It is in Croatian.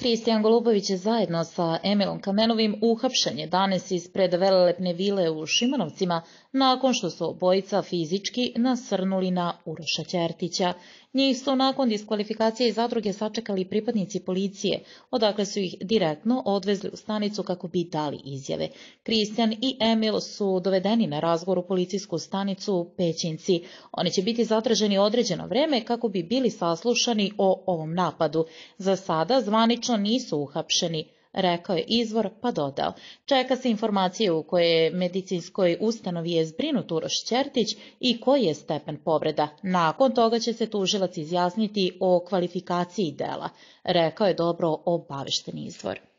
Kristijan Golubović je zajedno sa Emilom Kamenovim uhapšen je danas ispred velelepne vile u Šimanovcima nakon što su obojica fizički nasrnuli na Uroša Ćertića. Njih su nakon diskvalifikacije iz zadruge sačekali pripadnici policije, odakle su ih direktno odvezli u stanicu kako bi dali izjave. Kristijan i Emil su dovedeni na razgovor u policijsku stanicu u Pećinci. Oni će biti zatraženi određeno vreme kako bi bili saslušani o ovom napadu. Za sada zvanično nisu uhapšeni, rekao je izvor, pa dodao. Čeka se informacije u kojoj medicinskoj ustanovi je zbrinut Uroš Ćertić i koji je stepen povreda. Nakon toga će se tužilac izjasniti o kvalifikaciji dela, rekao je dobro obavešten izvor.